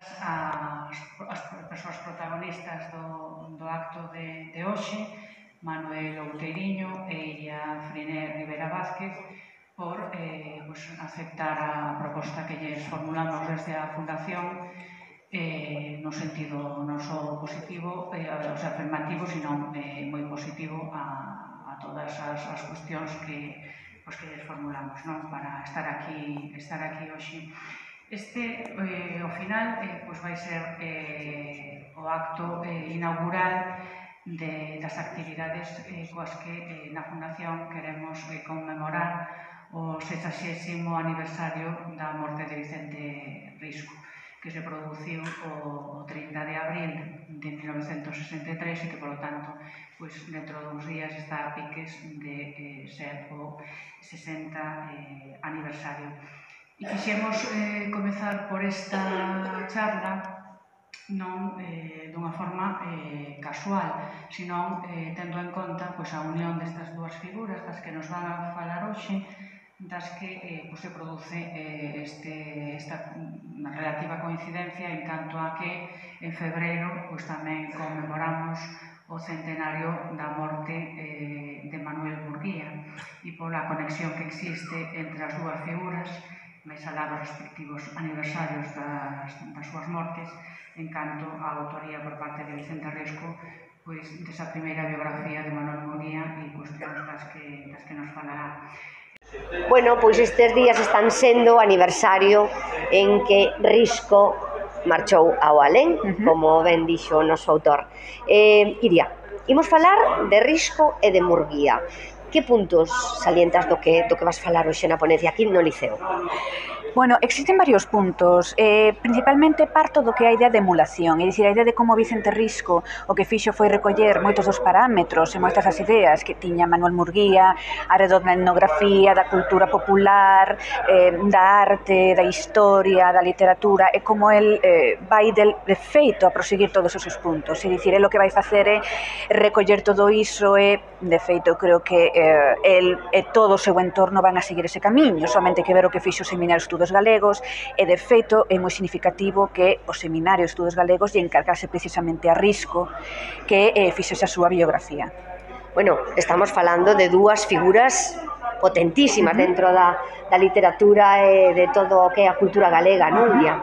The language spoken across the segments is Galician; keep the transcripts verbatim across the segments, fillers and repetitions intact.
as, as persoas protagonistas do, do acto de, de hoxe, Manuel Outeiriño e Iria Friné Rivera Vázquez, por eh, pues, aceptar a proposta que lles formulamos desde a Fundación eh, no sentido non só positivo, eh, o sea, afirmativo, sino eh, moi positivo a, a todas as, as cuestións que, pues, que lles formulamos, non? Para estar aquí, estar aquí hoxe. Este, eh, ao final, eh, pues vai ser eh, o acto eh, inaugural de, das actividades eh, coas que eh, na Fundación queremos eh, conmemorar o sexagésimo aniversario da morte de Vicente Risco, que se produciu o trinta de abril de mil novecentos sesenta e tres e que, polo tanto, pues, dentro duns días está a piques de eh, ser o sesenta eh, aniversario. E quixemos eh, comezar por esta charla non eh, dunha forma eh, casual, senón eh, tendo en conta pues, a unión destas dúas figuras das que nos van a falar hoxe, das que eh, pues, se produce eh, este, esta relativa coincidencia en canto a que en febreiro pues, tamén conmemoramos o centenario da morte eh, de Manuel Murguía e pola conexión que existe entre as dúas figuras, máis alá dos respectivos aniversarios das, das súas mortes, en canto á autoría por parte de Vicente Risco pois, desa primeira biografía de Manuel Murguía e cuestións das que, das que nos falará. Bueno, pois estes días están sendo o aniversario en que Risco marchou ao alén, uh -huh. como ben dixo o noso autor. Eh, Iria, imos falar de Risco e de Murguía. Que puntos salientas do que, do que vas falar hoxe na ponencia aquí no Liceo? Bueno, existen varios puntos, eh, principalmente parto do que a idea de emulación, é dicir, a idea de como Vicente Risco o que fixo foi recoller moitos dos parámetros e moitas das ideas que tiña Manuel Murguía arredor da etnografía, da cultura popular, eh, da arte, da historia, da literatura, e como el eh, vai del, de feito a proseguir todos esos puntos, é dicir, el o que vai facer é recoller todo iso e, de feito, creo que eh, el e todo o seu entorno van a seguir ese camiño, somente que ver o que fixo o Seminario de Estudos Galegos, e de feito é moi significativo que o Seminario de Estudos Galegos lle encargase precisamente a Risco que eh, fixese a súa biografía. Bueno, estamos falando de dúas figuras potentísimas uh -huh. dentro da, da literatura e de todo o que é a cultura galega, non, Iria?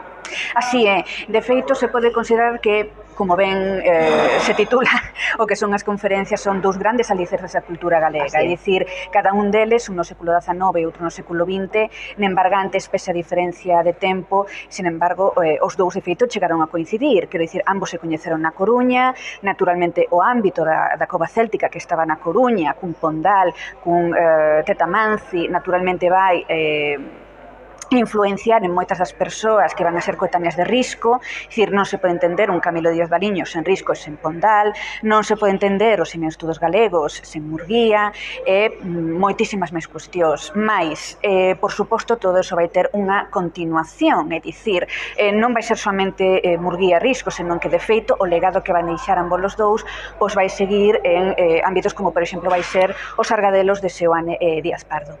Así é, de feito se pode considerar que, como ben eh, se titula, o que son as conferencias son dous grandes alicerces da cultura galega, é dicir, cada un deles, un no século dezanove e outro no século vinte, nembargantes pese a diferencia de tempo, sin embargo, eh, os dous de feito chegaron a coincidir, quero dicir, ambos se coñeceron na Coruña, naturalmente o ámbito da, da cova céltica que estaba na Coruña, cun Pondal, cun eh, Tetamanci, naturalmente vai eh, influenciar en moitas das persoas que van a ser coetáneas de Risco, é dicir, non se pode entender un Camilo Díaz Baliño sen Risco e sen Pondal, non se pode entender os Seminario de Estudos Galegos sen Murguía, e moitísimas máis cuestións. Mais, eh, por suposto, todo iso vai ter unha continuación, é dicir, eh, non vai ser somente eh, Murguía e Risco, senón que, de feito, o legado que van deixar ambos os dous pois vai seguir en eh, ámbitos como, por exemplo, vai ser os Argadelos de Seoane e Díaz Pardo.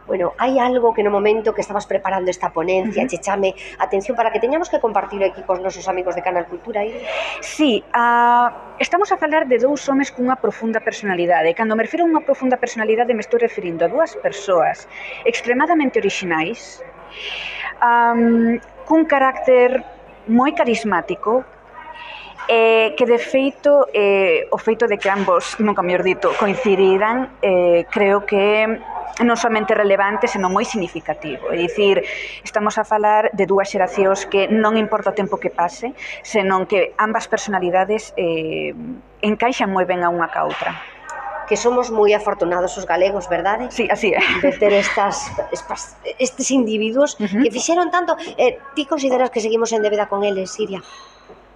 Bueno, hai algo que no momento que estabas preparando esta ponencia, uh -huh. che chame atención para que teñamos que compartir aquí cos nosos amigos de Canal Cultura? Aí? Sí, uh, estamos a falar de dous homes cunha profunda personalidade. Cando me refiro a unha profunda personalidade me estou referindo a dúas persoas extremadamente orixinais, um, cun carácter moi carismático, eh, que de feito eh, o feito de que ambos, nunca mellor dito, coincidiran, eh, creo que non somente relevante, senón moi significativo. É dicir, estamos a falar de dúas xeracións que non importa o tempo que pase, senón que ambas personalidades eh, encaixan moi ben a unha ca outra. Que somos moi afortunados os galegos, verdade? Sí, así é. De ter estas, estas estes individuos uh -huh. que fixeron tanto. Eh, ti consideras que seguimos en débeda con eles, Iria?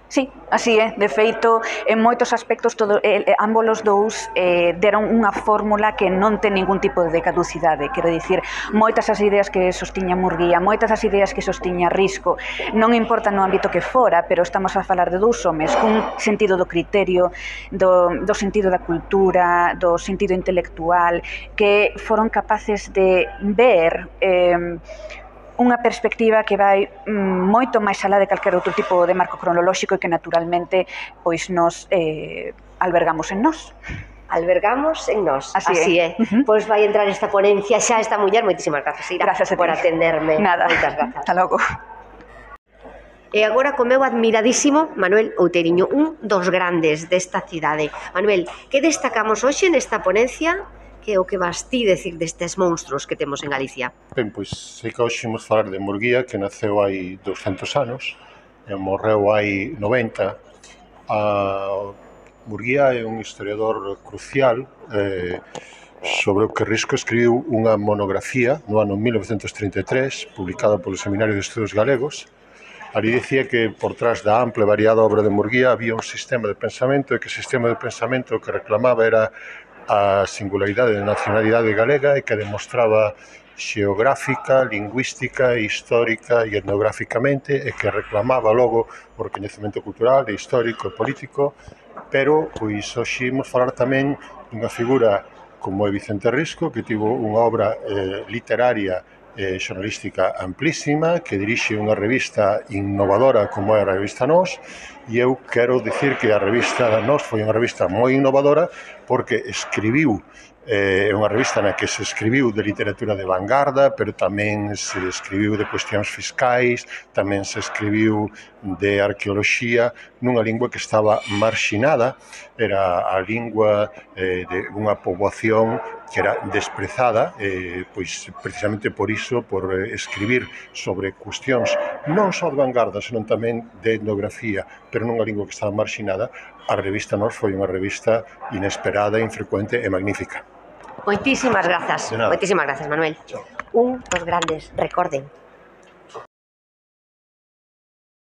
Sí, así é. De feito, en moitos aspectos, todo, eh, ambos os dous eh, deron unha fórmula que non ten ningún tipo de caducidade. Quero dicir, moitas as ideas que sostiña Murguía, moitas as ideas que sostiña Risco, non importa no ámbito que fora, pero estamos a falar de dous homes cun sentido do criterio, do, do sentido da cultura, do sentido intelectual, que foron capaces de ver... Eh, unha perspectiva que vai mm, moito máis alá de calquer outro tipo de marco cronolóxico e que naturalmente pois nos eh, albergamos en nós. Albergamos en nós, así, así é. é. Uh -huh. Pois vai entrar esta ponencia xa esta muller. Moitísimas grazas, Ira, gracias por atenderme. Nada. Moitas grazas. Hasta logo. E agora co meu admiradísimo Manuel Outeiriño, un dos grandes desta cidade. Manuel, que destacamos hoxe nesta ponencia? Que é o que vas ti decir destes monstruos que temos en Galicia? Ben, pois, sei que hoxe imos falar de Murguía, que naceu hai douscentos anos e morreu hai noventa. A Murguía é un historiador crucial eh, sobre o que Risco escribiu unha monografía no ano mil novecentos trinta e tres, publicada polo Seminario de Estudos Galegos. Ali dicía que por trás da ampla e variada obra de Murguía había un sistema de pensamento e que o sistema de pensamento que reclamaba era a singularidade da nacionalidade galega e que demostraba xeográfica, lingüística, histórica e etnográficamente e que reclamaba logo o recoñecemento cultural, e histórico e político, pero pois hoxe imos falar tamén dunha figura como é Vicente Risco, que tivo unha obra eh, literaria e xornalística amplísima, que dirixe unha revista innovadora como é a revista Nós, e eu quero dicir que a revista Nós foi unha revista moi innovadora porque escribiu É unha revista na que se escribiu de literatura de vanguarda, pero tamén se escribiu de cuestións fiscais, tamén se escribiu de arqueoloxía, nunha lingua que estaba marxinada, era a lingua eh, de unha poboación que era desprezada, eh, pois precisamente por iso, por eh, escribir sobre cuestións non só de vanguarda, senón tamén de etnografía, pero nunha lingua que estaba marxinada. A revista Nós foi unha revista inesperada, infrecuente e magnífica. Moitísimas grazas, moitísimas grazas, Manuel. Un dos grandes, recorden,